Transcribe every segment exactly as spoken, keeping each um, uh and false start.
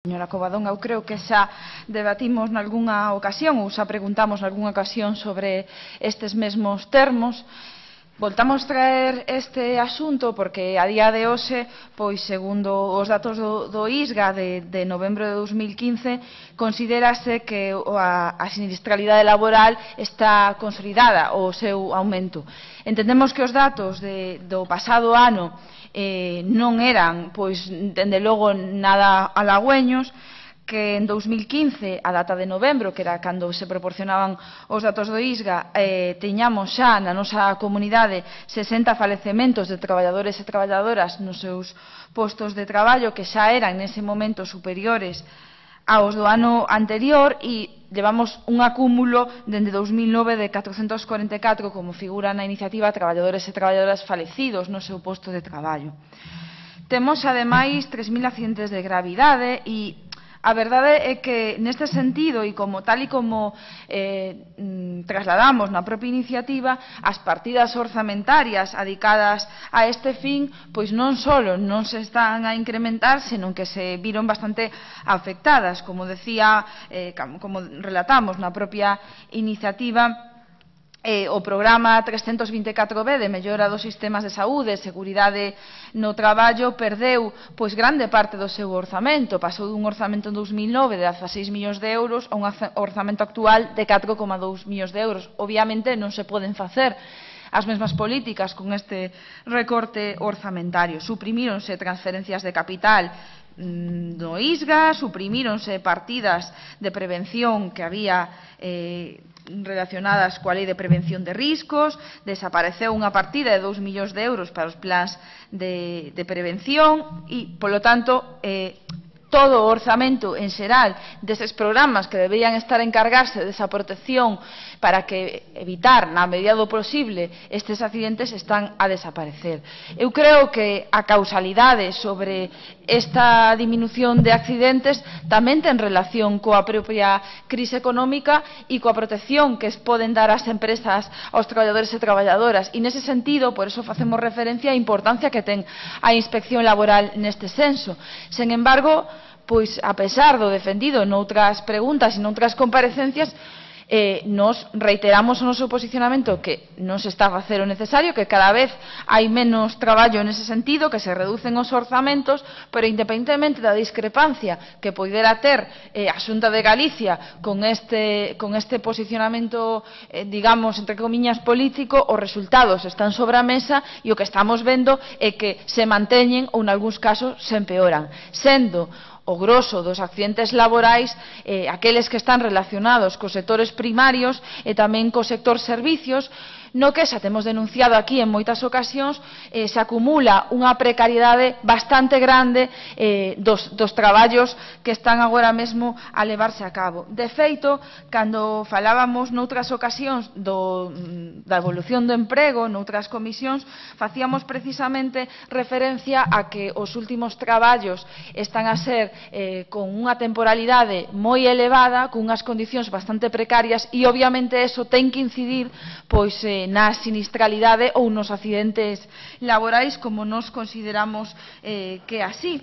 Señora Covadón, eu creo que xa debatimos nalgúnha ocasión ou xa preguntamos nalgúnha ocasión sobre estes mesmos termos. Voltamos traer este asunto porque a día de hoxe, pois segundo os datos do, do I S G A de, de novembro de dos mil quince, considérase que a, a sinistralidade laboral está consolidada o seu aumento. Entendemos que os datos de, do pasado ano eh, non eran, pois, dende logo, nada halagüeños, que en dos mil quince, a data de novembro, que era cando se proporcionaban os datos do I S G A, eh, teñamos xa na nosa comunidade sesenta falecementos de traballadores e traballadoras nos seus postos de traballo, que xa eran nese momento superiores aos do ano anterior, e levamos un acúmulo dende dos mil nove de catrocentos corenta e catro, como figura na iniciativa, traballadores e traballadoras falecidos no seu posto de traballo. Temos, ademais, tres mil accidentes de gravidade e a verdade é que, neste sentido, e como tal e como eh, trasladamos na propia iniciativa, as partidas orzamentarias adicadas a este fin, pois non só non se están a incrementar, senón que se viron bastante afectadas. Como decía, eh, como relatamos na propia iniciativa, Eh, o programa trescentos vinte e catro B de mellora dos sistemas de saúde e seguridade no traballo perdeu pois grande parte do seu orzamento, pasou dun orzamento en dos mil nove de dezaseis millóns de euros a un orzamento actual de catro coma dous millóns de euros. Obviamente non se poden facer as mesmas políticas con este recorte orzamentario. Suprimíronse transferencias de capital no I S G A, suprimíronse partidas de prevención que había eh, relacionadas coa Lei de Prevención de Riscos, desapareceu unha partida de dous millóns de euros para os plans de, de prevención e, polo tanto, eh, todo o orzamento en xeral deses programas que deberían estar a encargarse desa protección para que evitar, na medida do posible, estes accidentes están a desaparecer. Eu creo que a causalidade sobre esta diminución de accidentes tamén ten relación coa propia crise económica e coa protección que poden dar as empresas aos traballadores e traballadoras. E nese sentido, por eso facemos referencia á importancia que ten a inspección laboral neste senso. Sen embargo, pois, a pesar do defendido noutras preguntas e noutras comparecencias, eh, nos reiteramos o noso posicionamento que non se está a facer o necesario, que cada vez hai menos traballo nese sentido, que se reducen os orzamentos, pero independentemente da discrepancia que poidera ter eh, a Xunta de Galicia con este, con este posicionamento, eh, digamos, entre comiñas, político, os resultados están sobre a mesa e o que estamos vendo é que se manteñen ou, nalgúns casos, se empeoran, sendo o groso dos accidentes laborais eh, aqueles que están relacionados cos sectores primarios e tamén co sector servicios, no que xa temos denunciado aquí en moitas ocasións, eh, se acumula unha precariedade bastante grande eh, dos, dos traballos que están agora mesmo a levarse a cabo. De feito, cando falábamos noutras ocasións do, da evolución do emprego, noutras comisións, facíamos precisamente referencia a que os últimos traballos están a ser eh, con unha temporalidade moi elevada, con unhas condicións bastante precarias e, obviamente, eso ten que incidir pois eh, na sinistralidade ou nos accidentes laborais, como nos consideramos eh, que así.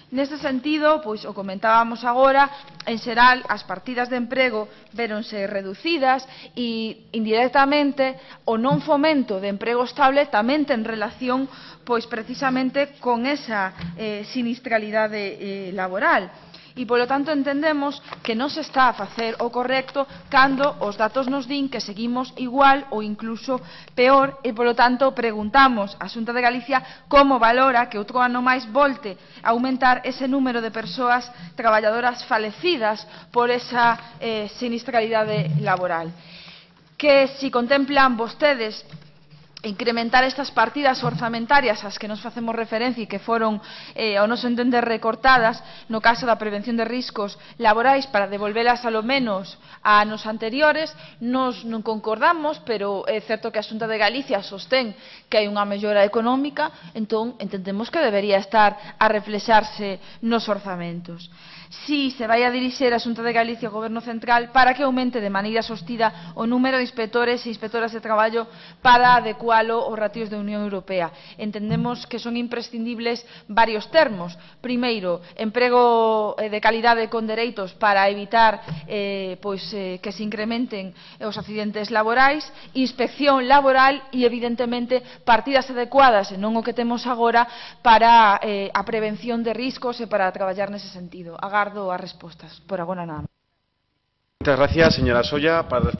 Neste sentido, pois o comentábamos agora, en xeral as partidas de emprego véronse reducidas e indirectamente o non fomento de emprego estable tamén ten relación pois precisamente con esa eh, sinistralidade eh, laboral. E, polo tanto, entendemos que non se está a facer o correcto cando os datos nos din que seguimos igual ou incluso peor e, polo tanto, preguntamos á Xunta de Galicia como valora que outro ano máis volte a aumentar ese número de persoas traballadoras falecidas por esa eh, sinistralidade laboral. Que si contemplan vostedes incrementar estas partidas orzamentarias ás que nos facemos referencia e que foron, eh, ao noso entender, recortadas no caso da prevención de riscos laborais para devolvelas alo menos a anos anteriores, nos non concordamos, pero é certo que a Xunta de Galicia sostén que hai unha mellora económica, entón entendemos que debería estar a reflexarse nos orzamentos. si se vai a dirixir a Xunta de Galicia ao Goberno Central para que aumente de maneira sostida o número de inspectores e inspectoras de traballo para adecualo aos ratios da Unión Europea. Entendemos que son imprescindibles varios termos. Primeiro, emprego de calidade con dereitos para evitar eh, pois, eh, que se incrementen os accidentes laborais, inspección laboral e, evidentemente, partidas adecuadas, e non o que temos agora, para eh, a prevención de riscos e para traballar nese sentido. Agardo as respostas. Por agora nada. Muchas gracias, señora Solla. Para